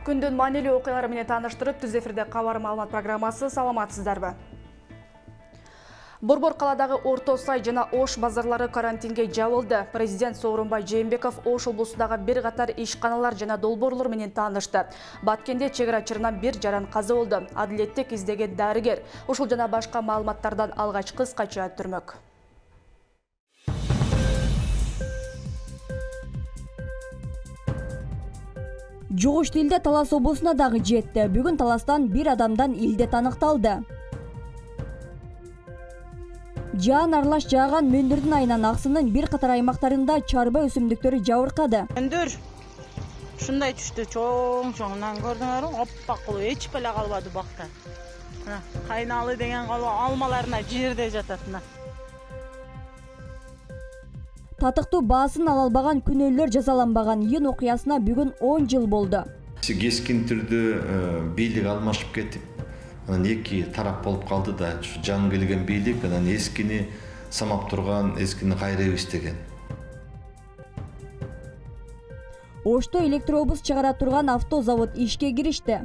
Күндүн маанилүү окуялары менен тааныштырып, түз эфирде кабар маалымат программасы. Саламатсыздарбы? Борбор каладагы Орто Сай жана Ош базарлары карантинге жабылды. Президент Сооронбай Жээнбеков Ош облусундагы бир катар ишканалар жана долбоорлор менен таанышты. Баткенде чегара чырынан бир жаран каза болду. Адилеттик издеген дарыгер. Ушул жана башка маалыматтардан алгач кыскача өттүрмөк. Жугуш тилде Талас облусуна дагы жетти. Бүгүн Таластан бир адамдан илдет аныкталды. Жаан аралаш жааган мөндүрдүн айынан аксынын бир катар аймактарында чарба өсүмдүктөрү жабыркады. Мөндүр ушундай түштү, чоң-чоңунан көрдүңөрбү? Оппак кылып эчип эле калбады бакта. Кайналы деген алмаларына жерде жатат. Татыктуу баасын ала албаган күнөөлөр жазаланбаган июнь окуясына бүгүн 10 жыл болду. Кескин түрдө бийлик алмашып кетип, анан эки тарап болуп калды да, жаңы келген бийлик анан эскини самап турган, эскини кайрайбыз деген. Ошто электробус чыгара турган автозавод ишке киришти.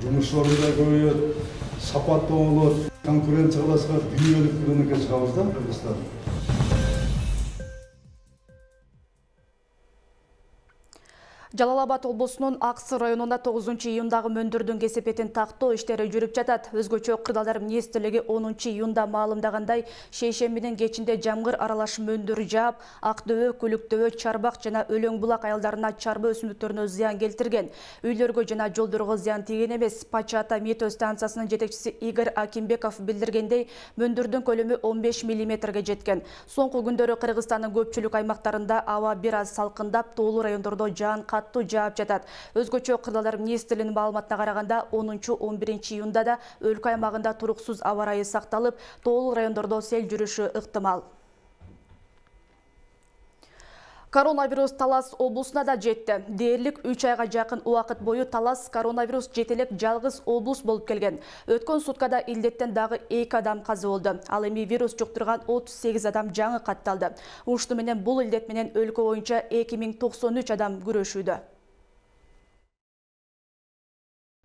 Жумуш орунда көбөйөт, сапаттуу болот, конкуренциялашка дүйнөлүк рынокко чыгабыз да, Кыргызстан. Жалал-Абад облусунун Аксы районунда 9-июндагы мөндүрдүн кесепетин тактоо иштери жүрүп жатат. Өзгөчө Кырдаалдар министрлиги 10-июнда маалымдагандай, шейшембинин кечинде жамгыр аралаш мөндүр жаап, Ак-дөбө, Көлүк-дөбө, Чарбак жана Өлөң-булак айылдарына чарба өсүмдүктөрүнө зыян келтирген. Үйлөргө жана жолдорго зыян тийген эмес. Пачата метео станциясынын жетекчиси Игорь Акимбеков билдиргендей, мөндүрдүн көлөмү 15 мм жеткен. Соңку күндөрү Кыргызстандын көпчүлүк аймактарында аба бир аз салкындап, тоолуу райондордо жаан жаап жатат. Өзгөчө Кырдаалдар министрлигинин маалыматына караганда 10-11 июнда да өлкө аймагында туруксуз аба ырайы сакталып, тоолуу райондордо сел жүрүшү ыктымал. Коронавирус Талас облусуна да жетти. Дээрлик 3 айга жакын убакыт бою Талас коронавирус жетелек жалгыз облус болуп келген. Өткөн суткада илдеттен дагы 2 адам каза болду. Ал эми вирус жуктурган 38 адам жаңы катталды. Ушту менен бул илдет менен өлкө боюнча 2093 адам күрөшүүдө.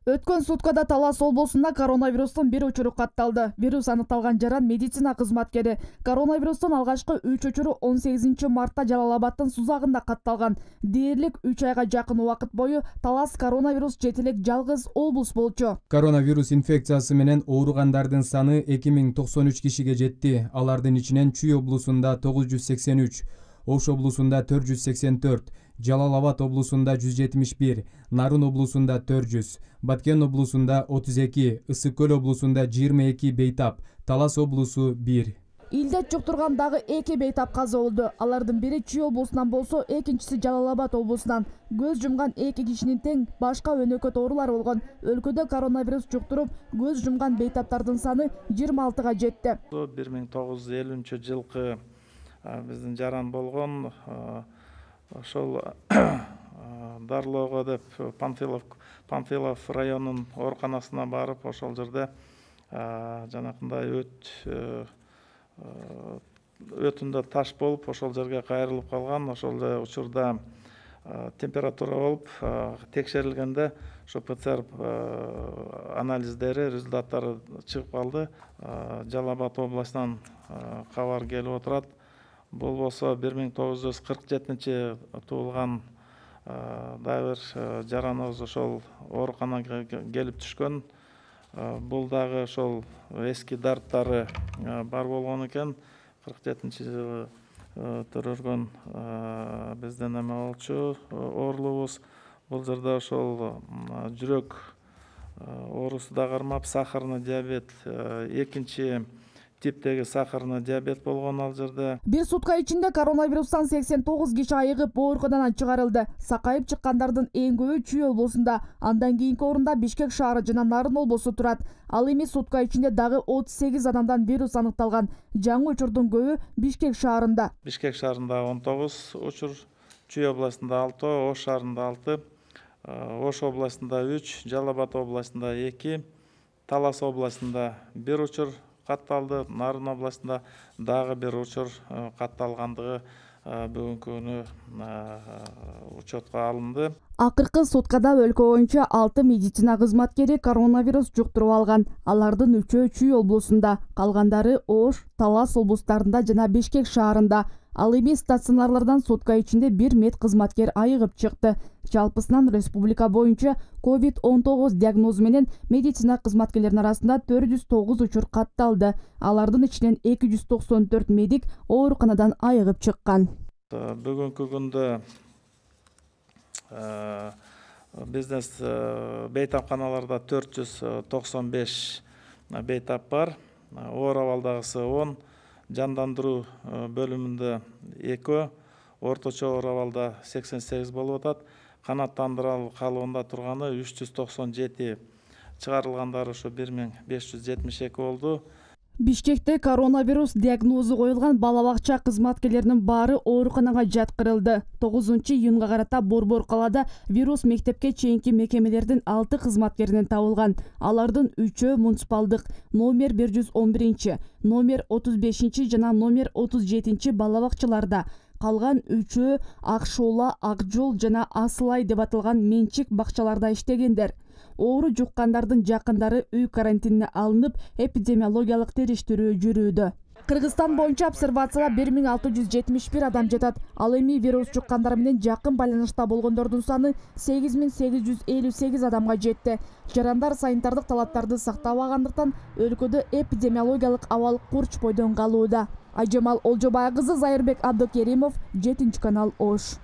Өткөн суткада Талас облусунда коронавирустун бир учуру катталды. Вирус аныкталган жаран медицина кызматкери. Коронавирустун алгачкы 3 учуру 18 мартта Жалал-Абадтын Сузагында катталган. Дээрлик 3 айга жакын убакыт бою Талас коронавирус жетелек жалгыз облус болчу. Коронавирус инфекциясы менен ооругандардын саны 2093 кишиге жетти. Алардын ичинен Чүй облусунда 983, Ош облусунда 484, Жалал-Абад облусунда 171, Нарын облусунда 400, Баткен облусунда 32, Ысык-Көл облусунда 22 бейтап, Талас облусу 1. Илдет жуктурган дагы 2 бейтап каза болду. Алардын бири Чүй облусунан болсо, экинчиси Жалал-Абад облусунан. Көз жумган 2 кишинин тең башка өнөкөт оорулар болгон. Өлкөдө коронавирус жуктуруп, көз жумган бейтаптардын саны 26га жетти. 1950-жылкы биздин жаран болгон, ошол дарылоого деп Панфилов районунун ооруканасына барып, ошол жерде жанакындай өтүндө таш болуп, ошол жерге кайрылып калган. Ошол учурда температура болуп, текшерилгенде ошо ПЦР анализдери, результаттары чыгып калды. Жалал-Абад областынан кабар келип отурат. Бул болсо 1947 туулган дагы бир жараныбыз ошол ооруканага келип түшкөн. Бул дагы ошол эски дарттары бар болгон экен. 47-жылы төрөлгөн биздин эме болчу оорулубуз. Бул жерде ошол жүрөк оорусу да кармап, сахарный диабет, экинчи типтеги сахарный диабет болгон ал жерде. Бир сутка ичинде коронавирустан 89 киши айыгып ооруканадан чыгарылды. Сакайып чыккандардын эң көбү Чүй облусунда, андан кийинки орунда Бишкек шаары жана Нарын облусу турат. Ал эми сутка ичинде дагы 38 адамдан вирус аныкталган. Жаңы учурдун көбү Бишкек шаарында. Бишкек шаарында 19 учур, Чүй областында 6, Ош шаарында 6, Ош областында 3, Жалал-Абад областында 2, Талас областында 1 учур катталды. Нарын областында дагы бир учур катталгандыгы бүгүнкү күнү учетко алынды. Акыркы суткада өлкө боюнча 6 медицина кызматкери коронавирус жуктуруп алган. Алардын 3-өө Чүй облусунда, калгандары Ош, Талас облустарында жана Бишкек шаарында. Ал эми стационарлардан сутка ичинде 1 мед кызматкер айыгып чыкты. Жалпысынан республика боюнча COVID-19 диагнозу менен медицина кызматкерлеринин арасында 409 учур катталды. Алардын ичинен 294 медик ооруканадан айыгып чыккан. Бүгүнкү күндө бизнес бейтапканаларда 495 бейтап бар. Оор абалдагысы 10, жандандыруу бөлүмүндө 2, орточо оор абалда 88 болуп атат. Канаттандыруу калыбында турганы 397, чыгарылгандары ушу 1572 болду. Бишкекте коронавирус диагнозу коюлган бала бакча кызматкерлеринин баары ооруканага жаткырылды. 9-июнга карата Борбор калаада вирус мектепке чейинки мекемелердин 6 кызматкеринен табылган. Алардын 3-өө муниципалдык номер 111, номер 35 жана номер 37 бала бакчаларда. Калган 3-өө Акшоола, Акжол жана Асылай деп аталган менчик бакчаларда иштегендер. Оору жуккандардын жакындары үй карантинине алынып, эпидемиологиялык териштирүү жүрүүдө. Кыргызстан боюнча обсервацияда 1671 адам жатат. Ал эми вирус жуккандар менен жакын байланышта болгондордун саны 8858 адамга жетти. Жарандар санитардык талаптарды сактабагандыктан өлкөдө эпидемиологиялык абал курч бойдон калууда. Айжамал Олжобай кызы, Зайырбек Абдыкеримов, 7-канал Ош.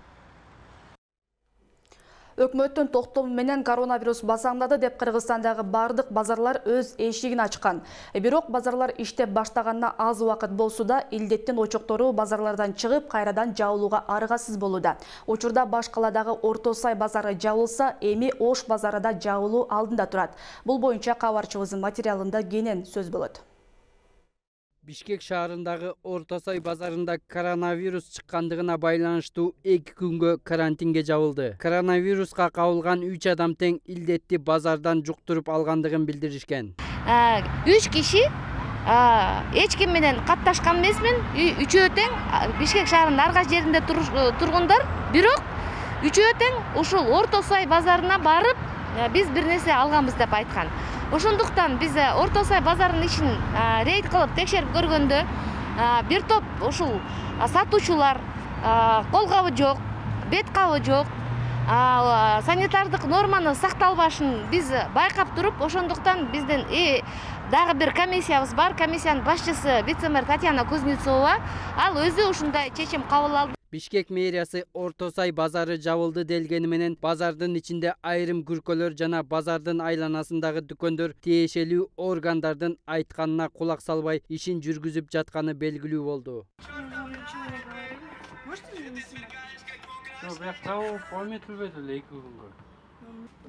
Өкмөттүн токтому менен коронавирус басаңдады деп Кыргызстандагы бардык базарлар өз эшигин ачкан. Бирок базарлар иштеп баштаганына аз убакыт болсо да, илдеттин очоктору базарлардан чыгып, кайрадан жабылууга аргасыз болууда. Учурда баш каладагы Орто Сай базары жабылса, эми Ош базары да жабылуу алдында турат. Бул боюнча кабарчыбыздын материалында кенен сөз болот. Бишкек шаарындагы Орто Сай базарында коронавирус чыккандыгына байланыштуу 2 күнгө карантинге жабылды. Коронавируска кабылган 3 адам тең илдетти базардан жуктуруп алгандыгын билдиришкен. 3 киши эч ким менен катташкан эмесмин. 3-өө тең Бишкек шаарынын ар кайсы жеринде тургундар, бирок 3-өө тең ушул Орто Сай базарына барып, биз бир нерсе алганбыз деп айткан. Ошондуктан биз Орто Сай базарынын ишин рейд кылып текшерип көргөндө, бир топ ушул сатуучулар кол кабы жок, бет кабы жок, санитардык норманы сакталбашын биз байкап туруп, ошондуктан бизден дагы бир комиссиябыз бар. Комиссиянын башчысы вице-мэр Татьяна Кузнецова, ал өзү ушундай чечим кабыл алды. Бишкек мэриясы Орто Сай базары жабылды делгени менен базардын ичинде айрым күркөлөр жана базардын айланасындагы дүкөндөр тиешелүү органдардын айтканына кулак салбай ишин жүргүзүп жатканы белгилүү болду.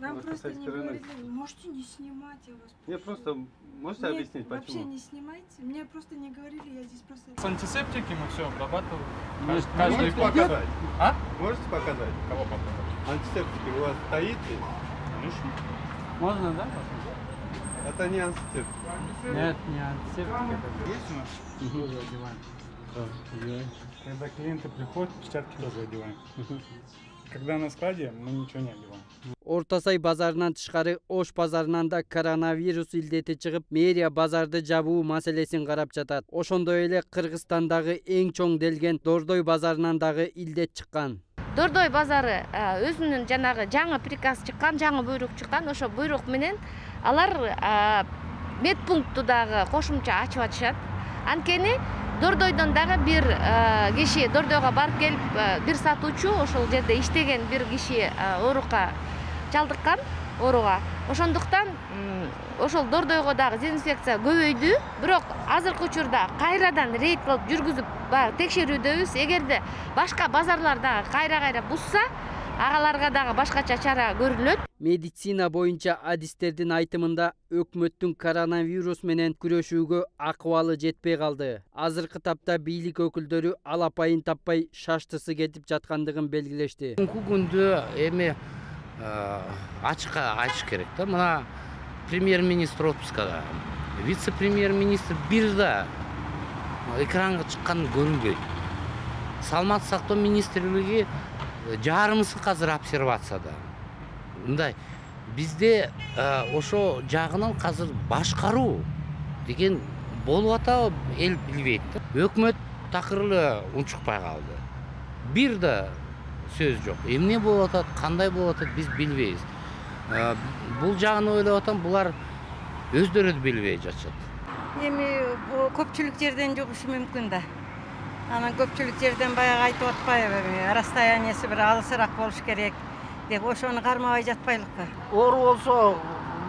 Нам просто не говорили, можете не снимать, я вас... Мне просто, можете объяснить, почему? Вообще не снимайте, мне просто не говорили, я здесь просто... С антисептики мы все обрабатываем. Можете показать? А? Можете показать? Кого показать? Антисептики у вас стоит? Конечно. Можно, да? Это не антисептик. Нет, не антисептик. Есть у нас? Тоже одеваем. Когда клиенты приходят, перчатки тоже одеваем. Когда на складе, мы ничего не одеваем. Орто Сай базарынан тышкары Ош базарынан да коронавирус илдети чыгып, мэрия базарды жабуу маселесин карап жатат. Ошондой эле Кыргызстандагы эң чоң делген Дордой базарынан дагы илдет чыккан. Дордой базары өзүнүн жанагы жаңы приказ чыккан, жаңы буйрук чыккан. Ошо буйрук менен алар медпункту дагы кошумча ачып атышат. Анткени Дордойдон дагы бир киши Дордойго барып келип, бир сатуучу ошол жерде иштеген бир киши оорука чалдыккан, ооруга. Ошондуктан ошол Дордойго дагы дезинфекция көбөйдү, бирок азыркы учурда кайрадан рейд кылып жүргүзүп текшерүүдөбүз. Эгерде башка базарларда кайра бузса, агаларга дагы башкача чара көрүлөт. Медицина боюнча адистердин айтымында өкмөттүн коронавирус менен күрөшүүгө акыбалы жетпей калды. Азыркы тапта бийлик өкүлдөрү алапайын таппай шаштысы кетип жаткандыгын белгилешти. Бүгүнкү күндө эми ачыкка айтыш керек да. Мына премьер-министр отпускада, вице-премьер-министр бир да экранга чыкканы көрүнбөйт. Саламаттык сактоо министрлиги жарымысы азыр обсервацияда. Мындай бизде ошо жагынан азыр башкаруу деген болуп атабы эл билбейт. Өкмөт такыр эле унчукпай калды. Бир да сөз жок. Эмне болуп атат, кандай болуп атат биз билбейбиз. Бул жагын ойлоп атам, булар өздөрү да билбей жатышат. Эми көпчүлүк жерден жугушу мүмкүн да. Анан көпчүлүк жерден баягы айтып атпайбы, расстояниясы бир алысыраак болуш керек деп ошону кармабай жатпайлыкпы. Оору болсо,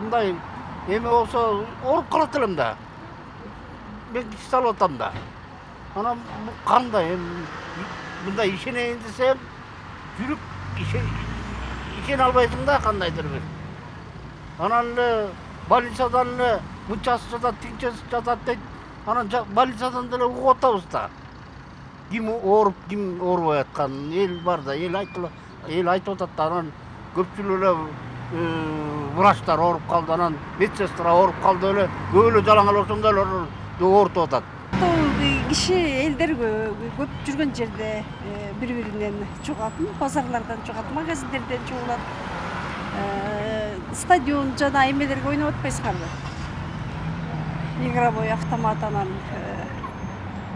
мындай эме болсо ооруп калат элем да. Мен иш салып атам да. Анан кандай мындай ишенейин десем, жүрүп ишене албайсың да кандайдыр бир. Анан эле больницадан эле мынчасы жатат, тигинчеси жатат дейт. Анан больницадан деле угуп атабыз да. Ким ооруп, ким оорубай атканын эл бар да, эл айтып атат да. Анан көпчүлүк эле врачтар ооруп калды, анан медсестра ооруп калды эле, көп эле жалаңал ошондой оорутуп атат. Киши элдер көп жүргөн жерде бири-биринен чугат, базарлардан чугат, магазиндерден чугулат. Стадион жана эмелерге ойноп атпайсыңарбы? Игровой автомат анан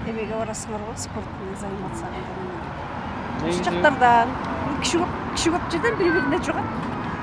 эмеге барасыңар го, спортный заниматься. Ушул жактардан киши көп жерден бири-бирине чугат.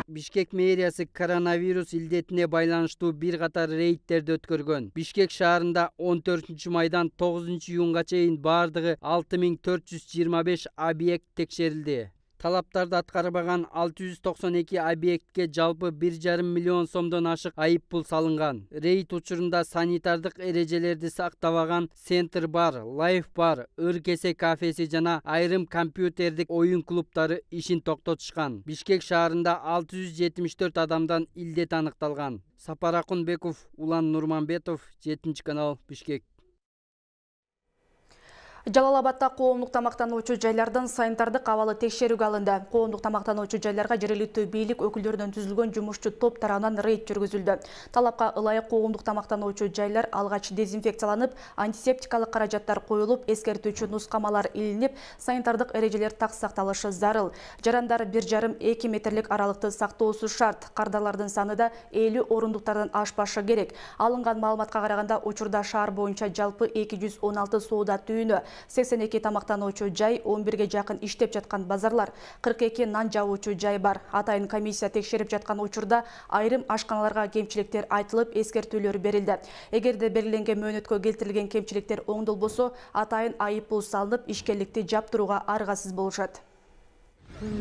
Бишкек мэриясы коронавирус илдетине байланыштуу бир катар рейдтерди өткөргөн. Бишкек шаарында 14 майдан 9 июнга чейин бардыгы 6425 объект текшерилди. Талаптарды аткарбаган 692 объектке жалпы 1,5 миллион сомдон ашык айыппул салынган. Рейд учурунда санитардык эрежелерди сактабаган Центр бар, Лайф бар, Ыр-кесе кафеси жана айрым компьютердик оюн клубтары ишин токтотушкан. Бишкек шаарында 674 адамдан илдет аныкталган. Сапар Акунбеков, Улан Нурманбетов, 7-канал, Бишкек. Жалал-Абадта коомдук тамактануучу жайлардан санитардык абалы текшерүүгө алынды. Коомдук тамактануучу жайларга жергиликтүү бийлик өкүлдөрүнөн түзүлгөн жумушчу топ тарабынан рейд жүргүзүлдү. Талапка ылайык коомдук тамактануучу жайлар алгач дезинфекцияланып, антисептикалык каражаттар коюлуп, эскертүүчү нускамалар илинип, санитардык эрежелер так сакталышы зарыл. Жарандар 1,5-2 метрлик аралыкты сактоосу шарт. Кардарлардын саны да 50 орундуктардан ашпашы керек. Алынган маалыматка караганда учурда шаар боюнча жалпы 216 соода түйүнү, 82 тамактануучу жай, 11ге жакын иштеп жаткан базарлар, 42 нан жабуучу жай бар. Атайын комиссия текшерип жаткан учурда айрым ашканаларга кемчиликтер айтылып, эскертүүлөр берилди. Эгерде белгиленген мөөнөткө келтирилген кемчиликтер оңдолбосо, атайын айыппул салынып, ишкерликти жаптырууга аргасыз болушат.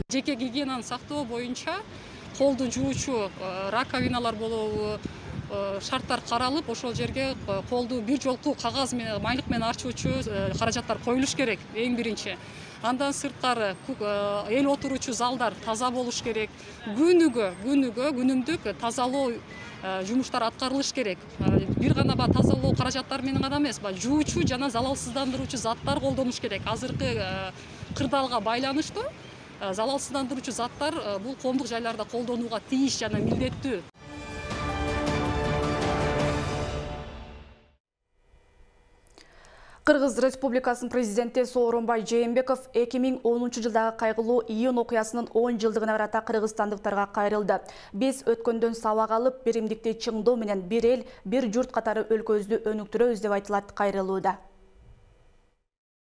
Жеке гигиенаны сактоо боюнча колду жуучу раковиналар болобу, шарттар каралып, ошол жерге колду бир жолку кагаз менен, майлык менен арчуучу каражаттар коюлуш керек эң биринчи. Андан сырткары эл отуруучу залдар таза болуш керек. Күнүмдүк тазалоо жумуштар аткарылыш керек. Бир гана тазалоо каражаттары менен гана эмес, жуучу жана залалсыздандыруучу заттар колдонуш керек. Азыркы кырдаалга байланыштуу залалсыздандыруучу заттар бул коомдук жайларда колдонууга тийиш жана милдеттүү. Кыргыз Республикасынын президенти Сооронбай Жээнбеков 2010 жылдагы кайгылуу июнь окуясынын 10 жылдыгына карата кыргызстандыктарга кайрылды. Биз өткөндөн сабак алып, биримдикти чыңдоо менен бир эл, бир журт катары өлкөбүздү өнүктүрөбүз деп айтылат кайрылууда.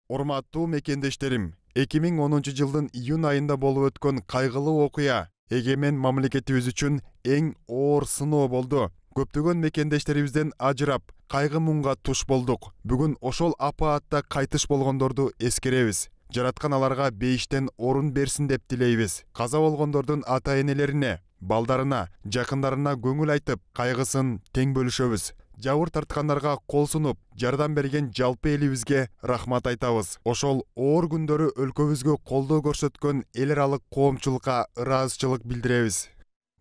Урматтуу мекендештерим, 2010 жылдын июнь айында болуп өткөн кайгылуу окуя эгемен мамлекетибиз үчүн эң оор сыноо болду. Көптөгөн мекендештерибизден ажырап, кайгы муңга туш болдук. Бүгүн ошол апаатта кайтыш болгондорду эскеребиз. Жараткан аларга бейиштен орун берсин деп тилейбиз. Каза болгондордун ата-энелерине, балдарына, жакындарына көңүл айтып, кайгысын тең бөлүшөбүз. Жабыр тарткандарга кол сунуп, жардам берген жалпы элибизге рахмат айтабыз. Ошол оор күндөрү өлкөбүзгө колдоо көрсөткөн эл аралык коомчулукка ыраазычылык билдиребиз.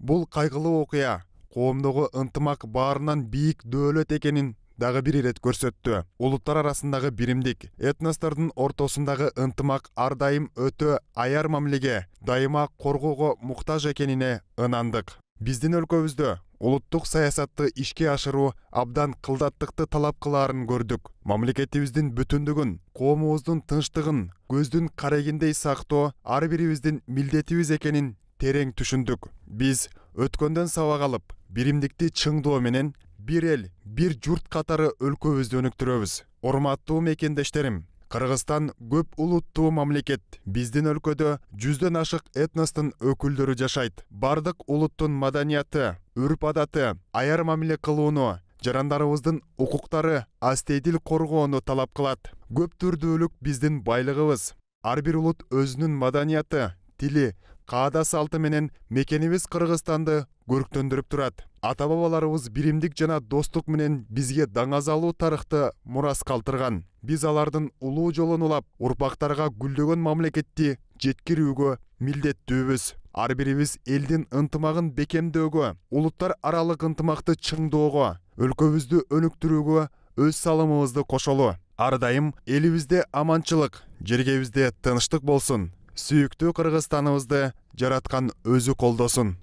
Бул кайгылуу окуя коомдогу ынтымак баарынан бийик дөөлөт экенин дагы бир ирет көрсөттү. Улуттар арасындагы биримдик, этностордун ортосундагы ынтымак ар дайым өтө аяр мамилеге, дайыма коргоого муктаж экенине ынандык. Биздин өлкөбүздө улуттук саясатты ишке ашыруу абдан кылдаттыкты талап кылаарын көрдүк. Мамлекетибиздин бүтүндүгүн, коомубуздун тынчтыгын көздүн карегиндей сактоо ар бирибиздин милдетибиз экенин терең түшүндүк. Биз өткөндөн сабак алып, биримдикти чыңдоо менен бир эл, бир журт катары өлкөбүздү өнүктүрөбүз. Урматтуу мекендештерим, Кыргызстан көп улуттуу мамлекет. Биздин өлкөдө 100дөн ашык этностун өкүлдөрү жашайт. Бардык улуттун маданияты, үрп-адаты, аяр мамиле кылууну, жарандарыбыздын укуктары, астейдил коргоону талап кылат. Көп түрдүүлүк биздин байлыгыбыз. Ар бир улут өзүнүн маданияты, тили, каада салты менен мекенибиз Кыргызстанды көрктөндүрүп турат. Ата-бабаларыбыз биримдик жана достук менен бизге даңазалуу тарыхты мурас калтырган. Биз алардын улуу жолун улап, урпактарга гүлдөгөн мамлекетти жеткирүүгө милдеттүүбүз. Ар бирибиз элдин ынтымагын бекемдөөгө, улуттар аралык ынтымакты чыңдоого, өлкөбүздү өнүктүрүүгө өз салымыбызды кошолу. Ар дайым элибизде аманчылык, жергебизде тынчтык болсун. Сүйүктүү Кыргызстаныбызды жараткан өзү колдосун.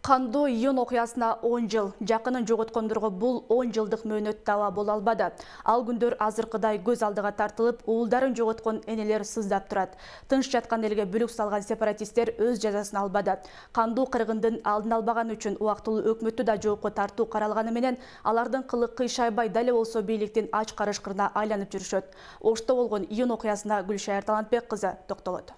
Кандуу июнь окуясына 10 жыл. Жакынын жоготкондорго бул 10 жылдык мөөнөт таба боло албады. Ал күндөр азыркыдай көз алдыга тартылып, уулдарын жоготкон энелер сыздап турат. Тынч жаткан элге бүлүк салган сепаратисттер өз жазасын албады. Кандуу кыргындын алдын албаган үчүн убактылуу өкмөттү да жоопко тартуу каралганы менен, алардын кылы кыйшайбай дале болсо бийликтин ач карышкырына айланып жүрүшөт. Ошто болгон июнь окуясына Гүлшайыр Талантбек кызы токтолот.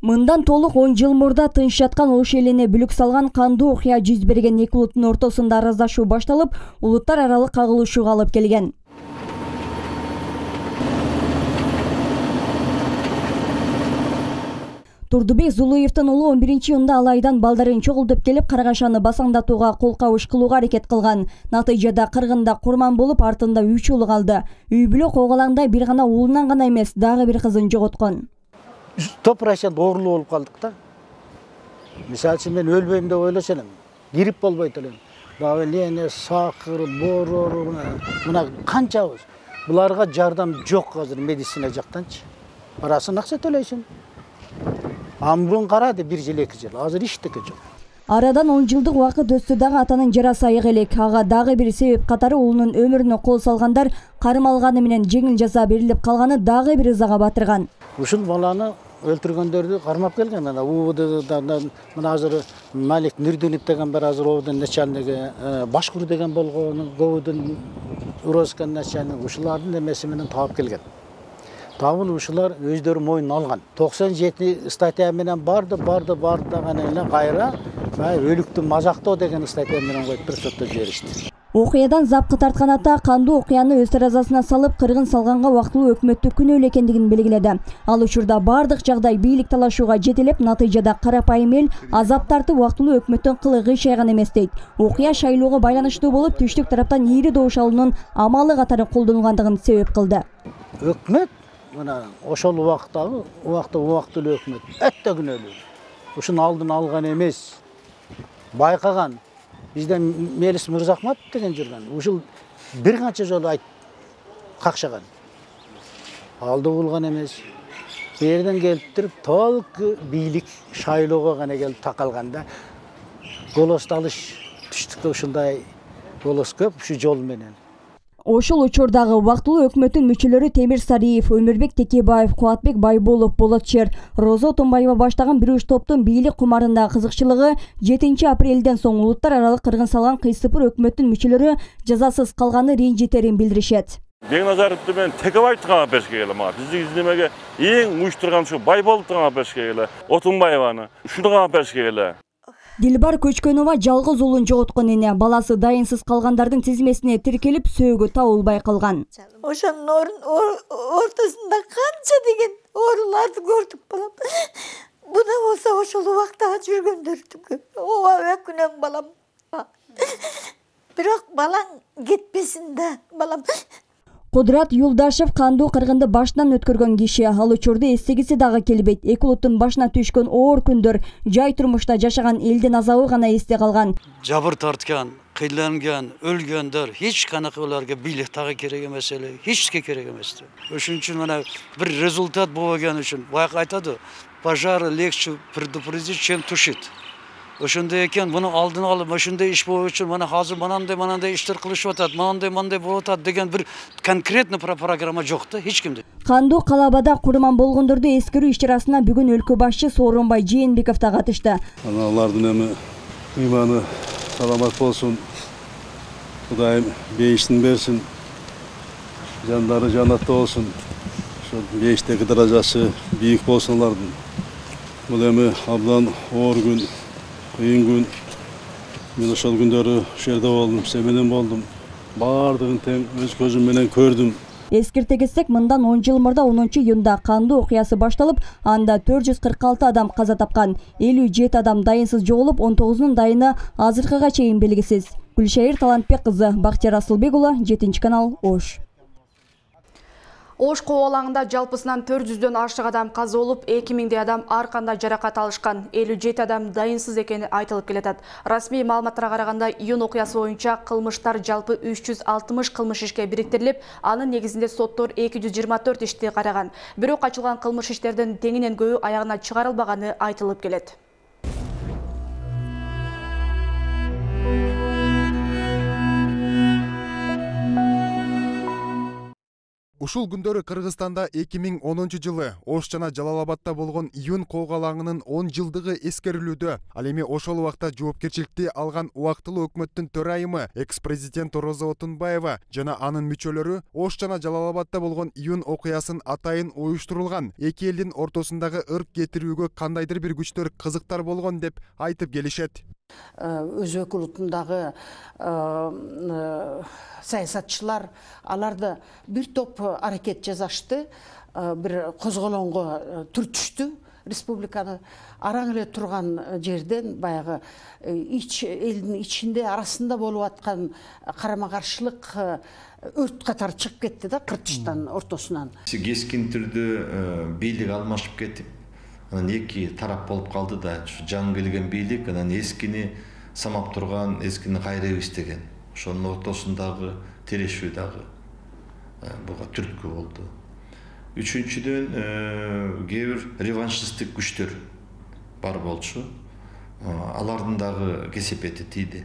Мындан толук 10 жыл мурда тынч жаткан ош элине бүлүк салган кандуу окуя жүз берген эки улуттун ортосунда араздашуу башталып, улуттар аралык кагылышууга алып келген. Турдубек Зулуевдин уулу 11-июнда алайдан балдарын чогултуп келип, Каргашаны басаңдатууга кол кабыш кылууга аракет кылган. Натыйжада кыргында курман болуп, артында 3 уулу калды. Үй бүлө коогалаңдай бир гана уулунан гана эмес, дагы бир кызын жоготкон. 100% оорулуу болуп калдык да. Мисалы үчүн мен өлбөйм деп ойлошо элем. Грипп болбойт элем. Дагы лене, сакыр, борор, мына канчабыз. Буларга жардам жок азыр медицина жактанчы. Парасын акча төлөйсүң. Амбун карады 1 жыл 2 жыл. Азыр иштеке жок. Арадан 10 жылдык убакыт өттү дагы атанын жарасы айык элек. Ага дагы бир себеп катары уулунун өмүрүнө кол салгандар кармалганы менен жеңил жаза берилип калганы дагы бир ызага батырган. Ушул баланы өлтүргөндөрдү кармап келген. Мына УВДдан мына азыр Малик Нурдинов деген бар, азыр ОВД начальниги, Башкур деген болгон, ГОВДун Урозкан начальниги, ушулардын эмеси менен таап келген. Табыл ушулар өздөрү мойнуна алган. 97 статья менен барды даганы эле кайра өлүктү мазактоо деген статья менен коюп туруп сотто жиберишти. Окуядан запкы тарткан ата кандуу окуяны өз таразасына салып, кыргын салганга убактылуу өкмөттү күнөөлүү экендигин белгиледи. Ал учурда бардык жагдай бийлик талашууга жетелеп, натыйжада карапайым эл азап тартып убактылуу өкмөттүн кылы кыйшайган эмес дейт. Окуя шайлоого байланыштуу болуп, түштүк тараптан ийри добуш алуунун амалы катары колдонулгандыгын себеп кылды. Өкмөт мына ошол убактагы убактылуу өкмөт өтө күнөөлүү. Ушунун алдын алган эмес, байкаган. Бизде Мелис Мырзахматов деген жүргөн. Ушул бир канча жолу какшаган. Алды булган эмес. Берден келип туруп, толку бийлик шайлоого гана келип такалганда, голос алыш түштүктө ушундай голос көп, ушу жол менен. Ошол учурдагы убактылуу өкмөттүн мүчөлөрү Темир Сариев, Өмүрбек Текебаев, Кубатбек Байболов, Болотчер, Розо Тумбаева баштаган бир уч топтун бийлик кумарындагы кызыкчылыгы 7 апрелден соң улуттар аралык кыргын салган кыйсыпыр өкмөттүн мүчөлөрү жазасыз калганы ренжитерин билдиришет. Бекназаровду мен Текебаевди каап беришке келем. Биздин издемеге эң уюштурган ушу Байболовду каап беришке келе, Отунбаеваны, ушуну каап беришке келе. Дилбар Көчкөнова жалгыз уулун жоготкон эне, баласы дайынсыз калгандардын тизмесине тиркелип, сөөгү табылбай калган. Ошонун ортосунда канча деген ооруларды көрдүк балам. Буна болсо ошол убакта жүргөндөрдүкү. Ооба өкүнөм балам. Бирок балаң кетпесин да, балам. Кудурат Юлдашев кандуу кыргынды башынан өткөргөн киши. Ал учурду эстегиси дагы келбейт. Эки улуттун башына түшкөн оор күндөр, жай турмушта жашаган элдин азабы гана эсте калган. Жабыр тарткан, кыйланган, өлгөндөр эч канакы буларга бийлик дагы керек эмес эле, эчке керек эмес. Ошон үчүн мына бир результат болгон үчүн баягы айтады, пожар легче предупредить, чем тушить. Ошондой экен, муну алдын алып, ошондой иш болуу үчүн мына азыр мынандай иштер кылышып атат, мындай болуп атат деген бир конкретный программа жок да эч кимде. Кандуу калабада курман болгондорду эскерүү иш-чарасына бүгүн өлкө башчы Сооронбай Жээнбеков да катышты. Алардын эми ыйманы саламат болсун. Кудайым бейиштин берсин. Жандары жанатта болсун. Ошо бейиштеги даражасы бийик болсун алардын. Бул эми абдан оор күн, кыйын күн. Мен ошол күндөрү ошол жерде болдум, сен менен болдум. Бардыгын тең өз көзүм менен көрдүм. Эскерте кетсек, мындан 10 жыл мурда 10-июнда кандуу окуясы башталып, анда 446 адам каза тапкан, 57 адам дайынсыз жоголуп, 19-нун дайыны азыркыга чейин белгисиз. Гүлшайыр Талантбек кызы, Бактияр Асылбек уулу, 7-канал, Ош. Ош кобалаңында жалпысынан 400дөн ашык адам каза болуп, 2000 адам ар кандай жаракат алышкан, 57 адам дайынсыз экени айтылып келатат. Расмий маалыматтарга караганда, июнь окуясы боюнча кылмыштар жалпы 360 кылмыш ишке бириктирилип, анын негизинде соттор 224 ишти караган. Бирок ачылган кылмыш иштердин теңинен көбү аягына чыгарылбаганы айтылып келет. Ушул күндөрү Кыргызстанда 2010 жылы Ош жана Жалал-Абадта болгон июнь коогалаңынын 10 жылдыгы эскерилүүдө. Ал эми ошол убакта жоопкерчиликти алган убактылуу өкмөттүн төрайымы экс-президент Роза Отунбаева жана анын мүчөлөрү Ош жана Жалал-Абадта болгон июнь окуясын атайын уюштурулган эки элдин ортосундагы ырк кетирүүгө кандайдыр бир күчтөр кызыктар болгон деп айтып келишет. Өз өкүлүтүндагы саясатчылар аларды бир топ аракет жасашты, бир козголоңго түртүштү республиканы. Араң эле турган жерден баягы элдин ичинде арасында болуп аткан карама-каршылык өрт катары чыгып кетти да кыртыштан ортосунан. Кескин түрдө бийлик алмашып кетип, анан эки тарап болуп калды да, жаңы келген бийлик анан эскини самап турган, эскини кайрайбыз деген. Ошонун ортосундагы терешүү дагы буга түрткү болду. Үчүнчүдөн кээ бир реваншисттик күчтөр бар болчу. Алардын дагы кесепети тийди.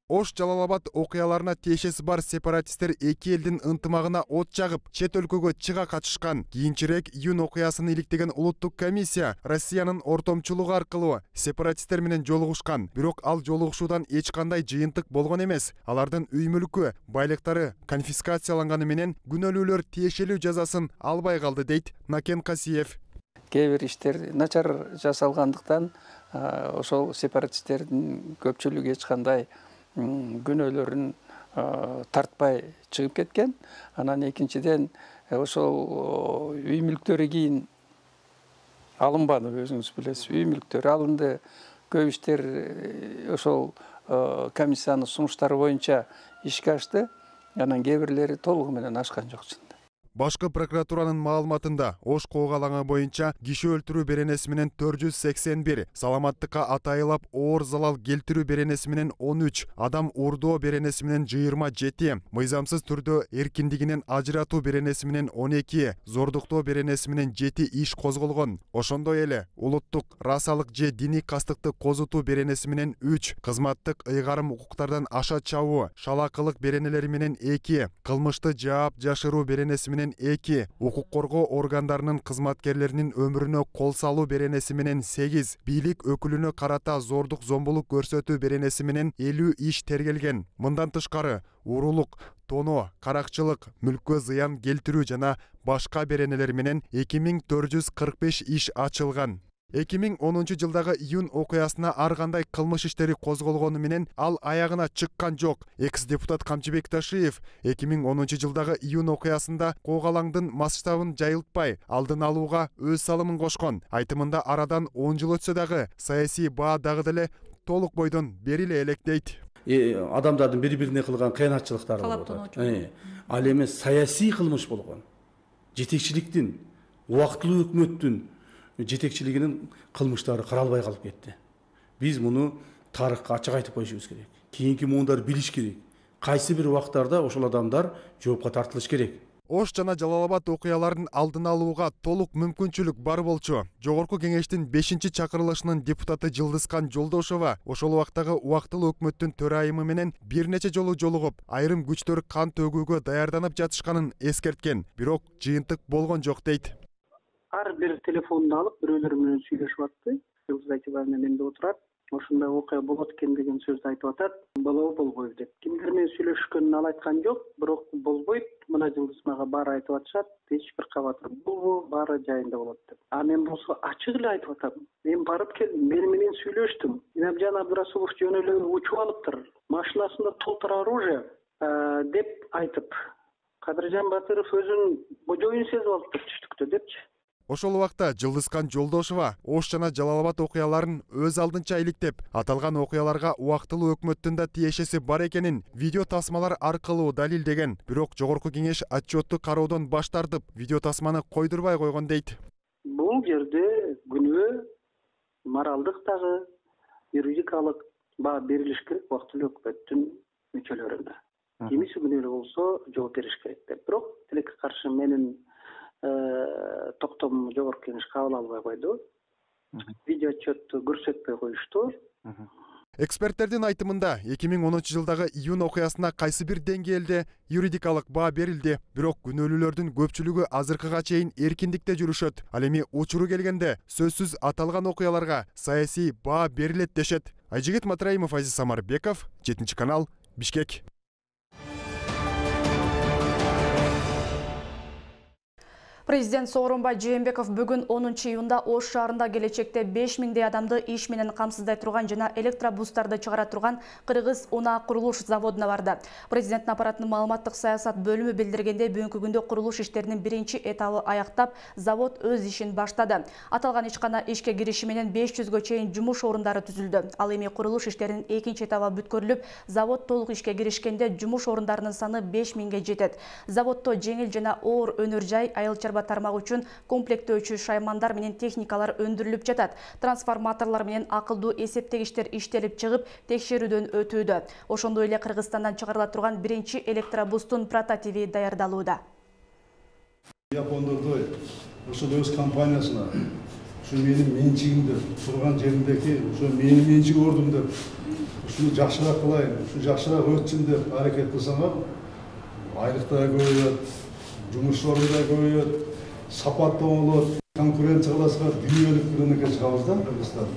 Ош Жалал-Абад окуяларына тиешеси бар сепаратисттер эки элдин ынтымагына от жагып, чет өлкөгө чыга качышкан. Кийинчерээк июнь окуясын иликтеген улуттук комиссия Россиянын ортомчулугу аркылуу сепаратисттер менен жолугушкан. Бирок ал жолугушуудан эч кандай жыйынтык болгон эмес. Алардын үй мүлкү, байлыктары конфискацияланганы менен күнөөлүүлөр тиешелүү жазасын албай калды дейт Накен Касиев. Кээ бир иштер начар жасалгандыктан ошол сепаратисттердин көпчүлүгү эч кандай күнөөлөрүн тартпай чыгып кеткен. Анан экинчиден ошол үй мүлктөрү кийин алынбады, өзүңүз билесиз. Үй мүлктөрү алынды. Көп иштер ошол комиссиянын сунуштары боюнча ишке ашты. Анан кээ бирлери толугу менен ашкан жок. Башкы прокуратуранын маалыматында Ош коогалаңы боюнча киши өлтүрүү беренеси менен 481, саламаттыкка атайылап оор залал келтирүү беренеси менен 13, адам уурдоо беренеси менен 27, мыйзамсыз түрдө эркиндигинен ажыратуу беренеси менен 12, зордуктоо беренеси менен 7 иш козголгон. Ошондой эле улуттук, расалык же диний кастыкты козутуу беренеси менен 3, кызматтык ыйгарым укуктардан аша чабуу, шалакылык беренелери менен 2, кылмышты жаап жашыруу беренеси менен 2, укук коргоо органдарынын кызматкерлеринин өмүрүнө кол салуу беренеси менен 8, бийлик өкүлүнө карата зордук зомбулук көрсөтүү беренеси менен 50 иш тергелген. Мындан тышкары уурулук, тоноо, каракчылык, мүлккө зыян келтирүү жана башка беренелер менен 2445 иш ачылган. 2010 жылдагы июнь окуясына ар кандай кылмыш иштери козголгону менен ал аягына чыккан жок. Экс-депутат Камчыбек Ташиев 2010 жылдагы июнь окуясында коогалаңдын масштабын жайылтпай, алдын алууга өз салымын кошкон. Айтымында арадан 10 жыл өтсө дагы саясий баа дагы деле толук бойдон бериле элек дейт. адамдардын бири-бирине кылган кыянатчылыктары болуп атат. Ал эми саясий кылмыш болгон. Жетекчиликтин, убактылуу өкмөттүн жетекчилигинин кылмыштары каралбай калып кетти. Биз муну тарыхка ачык айтып коюшубуз керек. Кийинки муундар билиш керек. Кайсы бир убактарда ошол адамдар жоопко тартылыш керек. Ош жана Жалал-Абад окуяларын алдын алууга толук мүмкүнчүлүк бар болчу. Жогорку кеңештин 5-чакырылышынын депутаты Жылдызкан Жолдошова ошол убактагы убактылуу өкмөттүн төрайымы менен бир нече жолу жолугуп, айрым күчтөр кан төгүүгө даярданып жатышканын эскерткен, бирок жыйынтык болгон жок дейт. Ар бир телефонду алып, бирөөлөр менен сүйлөшүп атты. Жылдыз Айтыбаевна менде отурат. Ошондой окуя болот экен деген сөздү айтып атат. Болобу, болбойбу деп. Кимдер менен сүйлөшкөнүн ал айткан жок, бирок болбойт. Мына Жылдыз мага баары айтып атышат. Эч бир кабатыр болбу, баары жайында болот деп. А мен болсо ачык эле айтып атам. Мен барып келдим, мени менен сүйлөштүм. Инабжан Абдырасулов жөн эле учуп алыптыр. Машинасында толтура оружие деп айтып. Кадыржан Батыров өзүн божоюн сезип алыптыр түштүктө депчи. Ошол убакта Жылдызкан Жолдошова Ош жана Жалал-Абад окуяларын өз алдынча иликтеп, аталган окуяларга убактылуу өкмөттүн да тиешеси бар экенин видео тасмалар аркылуу далилдеген. Бирок жогорку кеңеш отчетту кароодон баш тартып, видео тасманы койдурбай койгон дейт. Бул жерде күнөө моралдык дагы, юридикалык баа берилиш керек убактылуу өкмөттүн мүчөлөрүнө. Кимиси күнөөлүү болсо жооп бериш керек деп. Бирок тилекке каршы менин токтом жогорку кеңеш кабыл албай койду. Видео отчетту көрсөтпөй коюшту. Эксперттердин айтымында 2010 жылдагы июнь окуясына кайсы бир деңгээлде юридикалык баа берилди, бирок күнөөлүүлөрдүн көпчүлүгү азыркыга чейин эркиндикте жүрүшөт. Ал эми учуру келгенде сөзсүз аталган окуяларга саясий баа берилет дешет. Айжигит Матраимов, Азиз Самарбеков, 7-канал, Бишкек. Президент Сооронбай Жээнбеков бүгүн 10 июнда Ош шаарында келечекте 5000 адамды иш менен камсыздай турган жана электробустарды чыгара турган Кыргыз унаа курулуш заводуна барды. Президенттин аппаратынын маалыматтык саясат бөлүмү билдиргенде, бүгүнкү күндө курулуш иштеринин биринчи этабы аяктап, завод өз ишин баштады. Аталган ишкана ишке кириши менен 500гө чейин жумуш орундары түзүлдү. Ал эми курулуш иштеринин экинчи этабы бүткөрүлүп, завод толук ишке киришкенде жумуш орундарынын саны 5000ге жетет. Заводдо жеңил жана оор өнөр жай, айыл тармак үчүн комплектөөчү шаймандар менен техникалар өндүрүлүп жатат. Трансформаторлор менен акылдуу эсептегичтер иштелип чыгып, текшерүүдөн өтүүдө. Ошондой эле Кыргызстандан чыгарыла турган биринчи электробустун прототиби даярдалууда. Япондордой ошол өз компаниясына ушу менин менчигимде турган жеримдеки ушу менин менчиги ордум деп ушуну жакшыраак кылайын, ушу жакшыраак өтсүн деп аракет кылсаңар, айлыкта көбөйөт, жумуш орунда көбөйөт, сапаттуу болот, конкуренциялашка дүйнөлүк рынокко чыгабыз да Кыргызстан.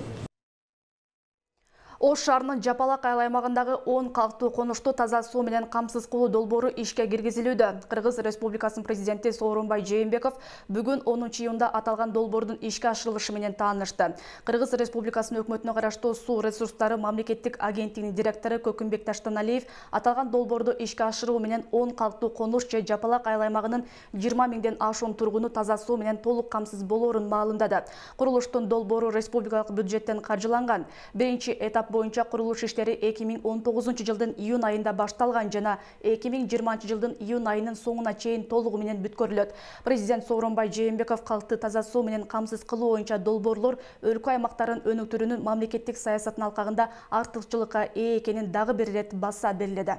Ош шаарынын Жапалак айыл аймагындагы 10 калктуу конушту таза суу менен камсыз кылуу долбоору ишке киргизилүүдө. Кыргыз Республикасынын президенти Сооронбай Жээнбеков бүгүн 10 июнда аталган долбоордун ишке ашырылышы менен таанышты. Кыргыз Республикасынын өкмөтүнө караштуу суу ресурстары мамлекеттик агенттигинин директору Көкүмбек Таштаналиев аталган долбоорду ишке ашыруу менен 10 калктуу конуш же Жапалак айыл аймагынын 20 миңден ашуун тургуну таза суу менен толук камсыз болоорун маалымдады. Курулуштун долбоору республикалык бюджеттен каржыланган. Биринчи этап боюнча курулуш иштери 2019 жылдын июнь айында башталган жана 2020 жылдын июнь айынын соңуна чейин толугу менен бүткөрүлөт. Президент Сооронбай Жээнбеков калкты таза суу менен камсыз кылуу боюнча долбоорлор өлкө аймактарын өнүктүрүүнүн мамлекеттик саясатынын алкагында артыкчылыкка ээ экенин дагы бир ирет баса белгиледи.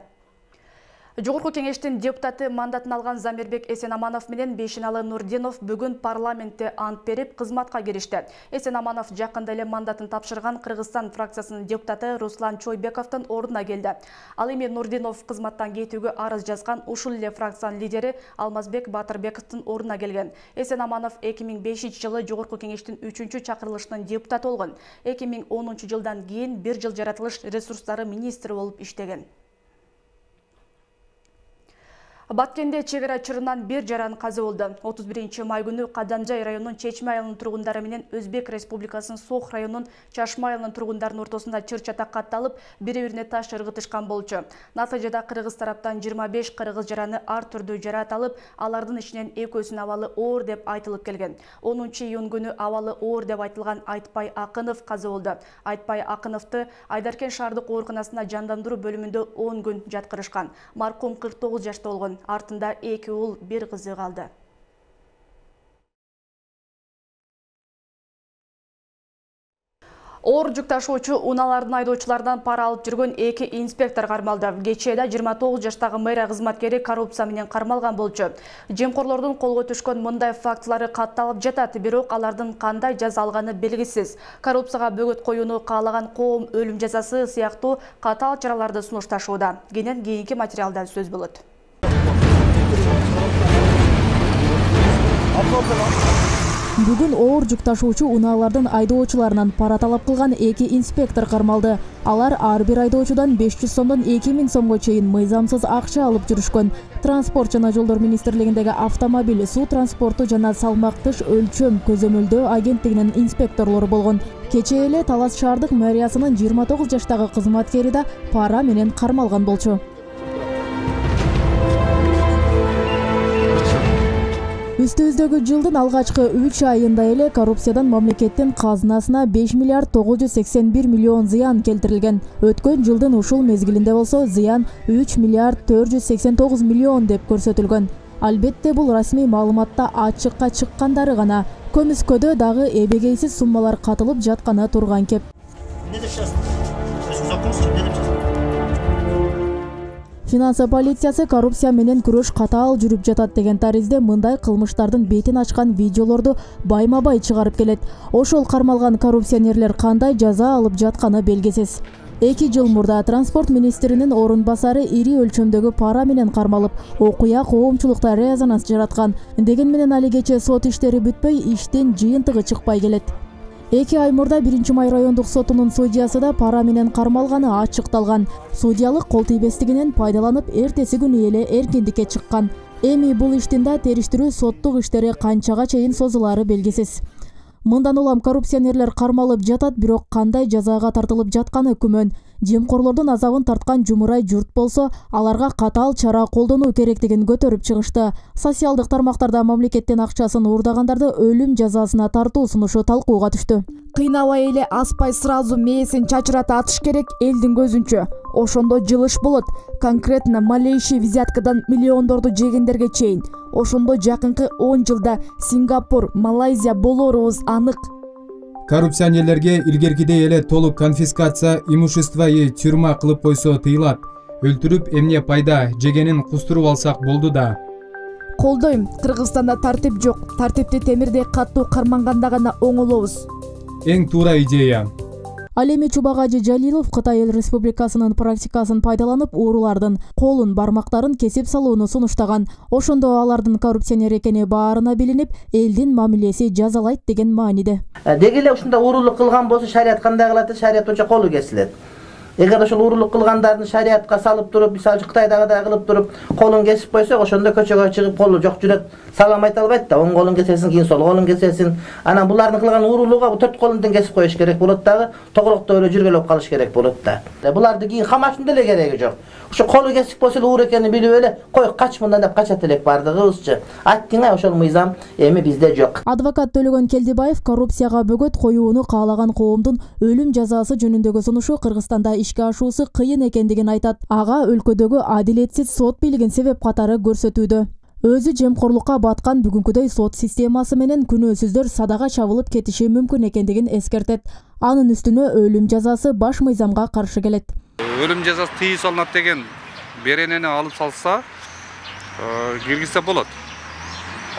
Жогорку кеңештин депутаты мандатын алган Замирбек Эсенаманов менен Бейшеналы Нурдинов бүгүн парламентте ант берип кызматка киришти. Эсенаманов жакында эле мандатын тапшырган Кыргызстан фракциясынын депутаты Руслан Чойбековдун ордуна келди. Ал эми Нурдинов кызматтан кетүүгө арыз жазган ушул эле фракциянын лидери Алмазбек Батырбековдун ордуна келген. Эсенаманов 2005 жылы Жогорку кеңештин 3-чакырылышынын депутаты болгон. 2010 жылдан кийин 1 жыл жаратылыш ресурстары министри болуп иштеген. Баткенде чегара чырынан бир жаран каза болду. 31-май күнү Кадамжай районунун Чечме айылынын тургундары менен Өзбек Республикасынын Сох районунун Чашма айылынын тургундарынын ортосунда чыр-чатак катталып, бири-бирине таш ыргытышкан болчу. Натыйжада кыргыз тараптан 25 кыргыз жараны ар түрдүү жараат алып, алардын ичинен экөөсүнүн абалы оор деп айтылып келген. 10-июнь күнү абалы оор деп айтылган Айтпай Акынов каза болду. Айтпай Акыновду Айдаркен шаардык ооруканасына жандандыруу бөлүмүндө 10 күн жаткырышкан. Маркум 49 жашта болгон. Артында 2 уул, 1 кызы калды. Оор жүк ташуучу унаалардын айдоочулардан пара алып жүргөн 2 инспектор кармалды. Кечээде 29 жаштагы мэрия кызматкери коррупция менен кармалган болчу. Жемкорлордун колго түшкөн мындай фактылары катталып жатат, бирок алардын кандай жаза алганы белгисиз. Коррупцияга бөгөт коюуну каалаган коом өлүм жазасы сыяктуу катаал чараларды сунушташууда. Кийинки материалда сөз болот. Бүгүн оор жүк ташуучу унаалардын айдоочуларынан пара талап кылган 2 инспектор кармалды. Алар ар бир айдоочудан 500 сомдон 2000 сомго чейин мыйзамсыз акча алып жүрүшкөн. Транспорт жана жолдор министрлигиндеги автомобиль, суу транспорту жана салмактыш өлчөм көзөмөлдөө агенттигинин инспекторлору болгон. Кечээ эле Талас шаардык мэриясынын 29 жаштагы кызматкери да пара менен кармалган болчу. Үстүбүздөгү жылдын алгачкы 3 айында эле коррупциядан мамлекеттин казынасына 5 миллиард 981 миллион зыян келтирилген. Өткөн жылдын ушул мезгилинде болсо зыян 3 миллиард 489 миллион деп көрсөтүлгөн. Албетте бул расмий маалыматта ачыкка чыккандары гана. Көмүскөдө дагы эбегейсиз суммалар катылып жатканы турган кеп. Финансы полициясы коррупция менен күрөш катаал жүрүп жатат деген таризде мындай кылмыштардын бетин ачкан видеолорду байма-бай чыгарып келет. Ошол кармалган коррупционерлер кандай жаза алып жатканы белгисиз. 2 жыл мурда транспорт министринин орун басары ири өлчөмдөгү пара менен кармалып, окуя коомчулукта резонанс жараткан. Деген менен алигече сот иштери бүтпөй, иштин жыйынтыгы чыкпай келет. 2 ай мурда 1-май райондук сотунун судьясы да пара менен кармалганы ачыкталган. Судьялык кол тийбестигинен пайдаланып, эртеси күнү эле эркиндикке чыккан. Эми бул иштин да териштирүү соттук иштери канчага чейин созулары белгисиз. Мындан улам коррупционерлер кармалып жатат, бирок кандай жазага тартылып жатканы күмөн. Жемкорлордун азабын тарткан жумурай журт болсо, аларга катаал чара колдонуу керектигин көтөрүп чыгышты. Социалдык тармактарда мамлекеттин акчасын уурдагандарды өлүм жазасына тартуу сунушу талкууга түштү. Кыйнабай эле аспай сразу мээсин чачырата атыш керек элдин көзүнчө. Ошондо жылыш болот. Конкретно малейший взяткадан миллиондорду жегендерге чейин. Ошондо жакынкы 10 жылда Сингапур, Малайзия болорубуз анык. Коррупционерлерге илгеркидей эле толук конфискация имущества тюрьма кылып койсо тыйылат. Өлтүрүп эмне пайда, жегенин кустуруп алсак болду да. Колдойм. Кыргызстанда тартип жок. Тартипти темирдей каттуу карманганда гана оңолобуз. Эң туура идея. Ал эми Чубагажы Жалилов Кытай Эл Республикасынын практикасын пайдаланып, уурулардын колун, бармактарын кесип салууну сунуштаган. Ошондо алардын коррупционер экени баарына билинип, элдин мамилеси жазалайт деген мааниде. Деги эле ушундай уурулук кылган болсо шарият кандай кылат? Шарият боюнча колу кесилет. Эгер ошол уурулук кылгандардын шариятка салып туруп, мисалы Кытайдагыдай кылып туруп, колун кесип койсок, ошондо көчөгө чыгып колу жок жүрөт, салам айта албайт да. Оң колун кесесиң, кийин сол колун кесесиң. Анан булардын кылган уурулууга 4 колун тең кесип коюш керек болот дагы, тогулуктуу эле жүргөлөп калыш керек болот да. Буларды кийин камаштын деле кереги жок. Ошо колу кесип койсо эле уур экенин билип эле, кой кач мындан деп качат элек бардыгыбызчы. Айттың ошол мыйзам эми бизде жок. Адвокат Төлөгөн Келдибаев коррупцияга бөгөт коюуну каалаган коомдун өлүм жазасы жөнүндөгү сунушу Кыргызстанда ишке ашуусу кыйын экендигин айтат. Ага өлкөдөгү адилетсиз сот бийлигин себеп катары көрсөтүүдө. Өзү жемкорлукка баткан бүгүнкүдөй сот системасы менен күнөөсүздөр садага чабылып кетиши мүмкүн экендигин эскертет. Анын үстүнө өлүм жазасы баш мыйзамга каршы келет. Өлүм жазасы тыйуу салынат деген беренени алып салса, киргизсе болот.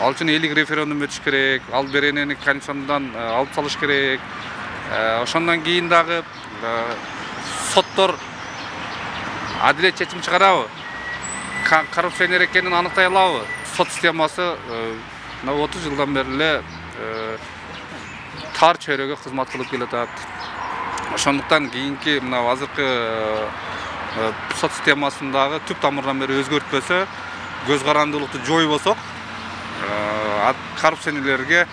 Ал үчүн элдик референдум өтүш керек, ал беренени Конституциядан алып салыш керек. Ошондон кийин дагы соттор адилет чечим чыгарабы? Коррупционер экенин аныктай алабы? Сот системасы 30 жылдан бери эле тар чөйрөгө кызмат кылып келатат. Ошондуктан кийинки мына азыркы сот системасындагы түп тамырдан бери өзгөртпөсө, көз карандуулукту жойбосок, коррупционерлерге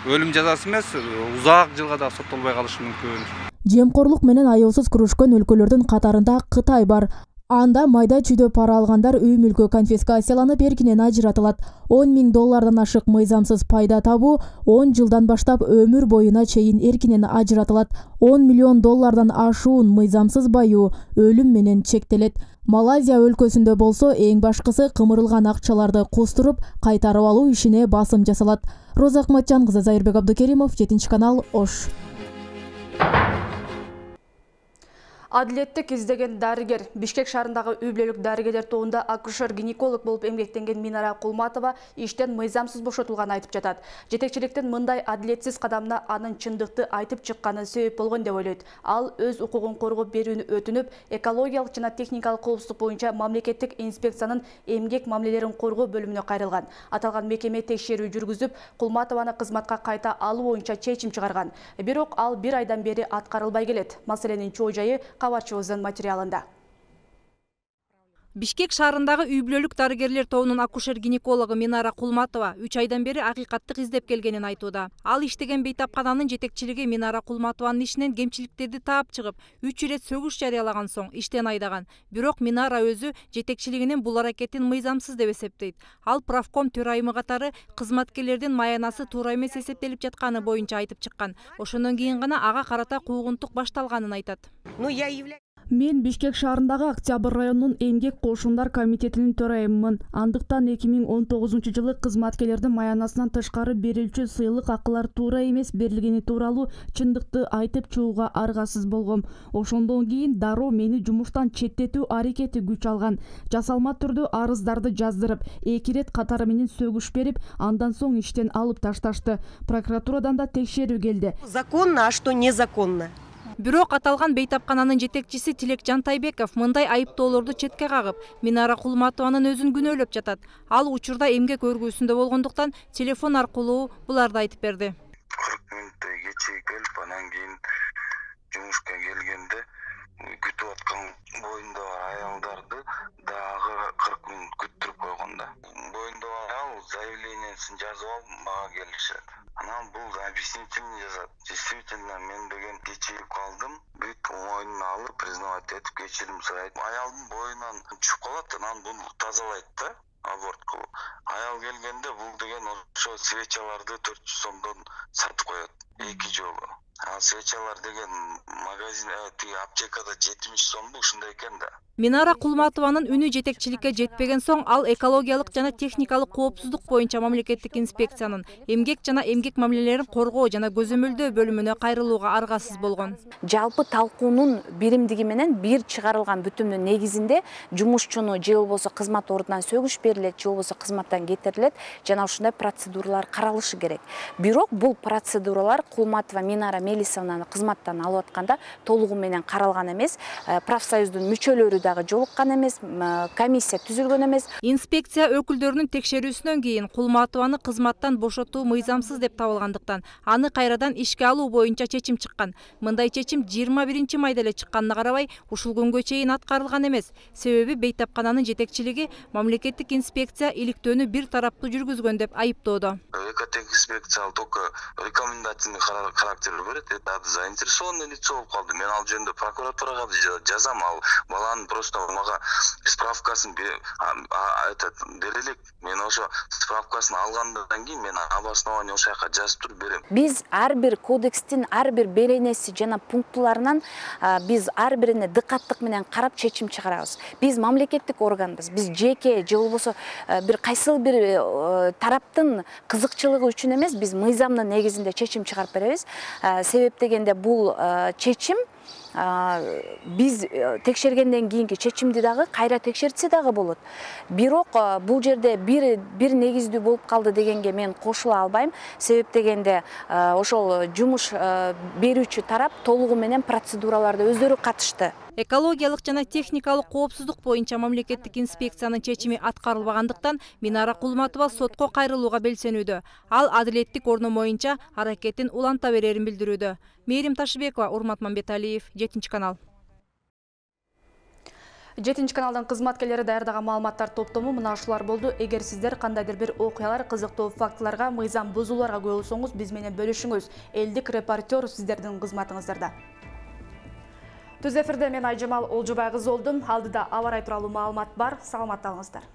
өлүм жазасы эмес, узак жылга да соттолбой калышы мүмкүн. Жемкорлук менен аяусуз күрөшкөн өлкөлөрдүн катарында Кытай бар. Анда майда чүйдө пара алгандар үй мүлкү конфискацияланып эркинен ажыратылат. 10 000 доллардан ашык мыйзамсыз пайда табуу 10 жылдан баштап өмүр боюна чейин эркинен ажыратылат. 10 миллион доллардан ашуун мыйзамсыз баюу өлүм менен чектелет. Малайзия өлкөсүндө болсо эң башкысы кымырылган акчаларды кустуруп кайтарып алуу ишине басым жасалат. Роза Акматжан кызы, Зайырбек Абдукеримов, 7 канал, Ош. Адилеттик издеген дарыгер, Бишкек шаарындагы үй бүлөлүк дарыгерлер тобунда акушер-гинеколог болуп эмгектенген Минара Кулматова иштен мыйзамсыз бошотулганын айтып жатат. Жетекчиликтин мындай адилетсиз кадамына анын чындыкты айтып чыкканы себеп болгон деп ойлойт. Ал өз укугун коргоп берүүнү өтүнүп, экологиялык жана техникалык коопсуздук боюнча мамлекеттик инспекциянын эмгек мамилелерин коргоо бөлүмүнө кайрылган. Аталган мекеме текшерүү жүргүзүп, Кулматованы кызматка кайта алуу боюнча чечим чыгарган. Бирок ал 1 айдан бери аткарылбай келет. Маселенин чоо жайы кабарчыбыздын материалында. Бишкек шаарындагы үй бүлөлүк дарыгерлер тобунун акушер-гинекологу Минара Кулматова 3 айдан бери акыйкаттык издеп келгенин айтууда. Ал иштеген бейтапкананын жетекчилиги Минара Кулматованын ишинен кемчиликтерди таап чыгып, 3 ирет сөгүш жарыялаган соң иштен айдаган. Бирок Минара өзү жетекчилигинин бул аракетин мыйзамсыз деп эсептейт. Ал правком төрайымы катары кызматкерлердин маянасы туура эмес эсептелип жатканы боюнча айтып чыккан. Ошондон кийин гана ага карата куугунтук башталганын айтат. Мен Бишкек шаарындагы Октябрь районунун эмгек кошундар комитетинин төрайымымын. Андыктан 2019-жылы кызматкерлердин маянасынан тышкары берилчү сыйлык акылар туура эмес берилгени тууралуу чындыкты айтып чыгууга аргасыз болгом. Ошондон кийин дароо мени жумуштан четтетүү аракети күч алган. Жасалма түрдө арыздарды жаздырып, 2 ирет катары менен сөгүш берип, андан соң иштен алып ташташты. Прокуратурадан да текшерүү келди. Законно, а что незаконно? Бирок аталган бейтапкананын жетекчиси Тилек Жантайбеков мындай айыптоолорду четке кагып, Минара Кулматованын өзүн күнөөлөп жатат. Ал учурда эмгек өргүүсүндө болгондуктан телефон аркылуу буларды айтып берди. 40 мүнөттөй кечээ келип, анан кийин жумушка келгенде күтүп аткан боюнда аялдарды дагы 40 мүнөт күттүрүп койгон да. Боюнда аял заявлениясын жазып алып мага келишет. Анан бул объяснительный жазат. Действительно, мен деген кечигип калдым. Бүт мойнуна алып, признавать этип кечирим сурайт. Аялдын боюнан чыгып калат, анан буну тазалайт да, аборт кылып. Аял келгенде бул деген ошо свечаларды 400 сомдон сатып коет 2 жолу. Ал свечалар деген магазин, аптекада 70 сомду ушундай экен да. Минара Кулматованын үнү жетекчиликке жетпеген соң ал экологиялык жана техникалык коопсуздук боюнча мамлекеттик инспекциянын эмгек жана эмгек мамилелерин коргоо жана көзөмөлдөө бөлүмүнө кайрылууга аргасыз болгон. Жалпы талкуунун биримдиги менен бир чыгарылган бүтүмдүн негизинде жумушчуну же болбосо кызмат ордунан сөгүш берилет, же болбосо кызматтан кетирилет жана ушундай процедуралар каралышы керек. Бирок бул процедуралар Кулматова Минара Мелисовнаны кызматтан алып атканда толугу менен каралган эмес. Профсоюздун мүчөлөрү дагы жолуккан эмес, комиссия түзүлгөн эмес. Инспекция өкүлдөрүнүн текшерүүсүнөн кийин Кулматованы кызматтан бошотуу мыйзамсыз деп табылгандыктан аны кайрадан ишке алуу боюнча чечим чыккан. Мындай чечим 21-майда эле чыкканына карабай, ушул күнгө чейин аткарылган эмес. Себеби бейтапкананын жетекчилиги мамлекеттик инспекция иликтөөнү бир тараптуу жүргүзгөн деп айыптоодо. Экотехинспекция только рекомендательный характер берет. Это заинтересованное лицо болуп калды. Мен ал жөнүндө прокуратурага жазам, ал баланын просто мага справкасын берелик. Мен ошо справкасын алгандан кийин мен обоснование ошол жака жазып туруп берем. Биз ар бир кодекстин ар бир беренеси жана пунктуларынан биз ар бирине дыкаттык менен карап чечим чыгарабыз. Биз мамлекеттик органбыз. Биз жеке же болбосо бир кайсыл бир тараптын кызыкчылыгы үчүн эмес, биз мыйзамдын негизинде чечим чыгарып беребиз. Себеп дегенде бул чечим биз текшергенден кийинки чечимди дагы кайра текшертсе дагы болот. Бирок бул жерде бир негиздүү болуп калды дегенге мен кошула албайм. Себеп дегенде ошол жумуш берүүчү тарап толугу менен процедураларда өздөрү катышты. Экологиялык жана техникалык коопсуздук боюнча мамлекеттик инспекциянын чечими аткарылбагандыктан Минара Кулматова сотко кайрылууга белсенүүдө. Ал адилеттик орно боюнча аракетин уланта берерин билдирүүдө. Мээрим Ташыбекова, Урмат Мамбеталиев, 7 канал. 7 каналдын кызматкерлери даярдаган маалыматтар топтому мына ушулар болду. Эгер сиздер кандайдыр бир окуялар, кызыктуу фактыларга, мыйзам бузууларга күбө болсоңуз, биз менен бөлүшүңүз. Элдик репортер сиздердин кызматыңыздарда. Түз эфирде мен Айжамал Олжобай кызы болдум. Алдыда аба ырайы тууралуу маалымат бар. Саламатта болуңуздар.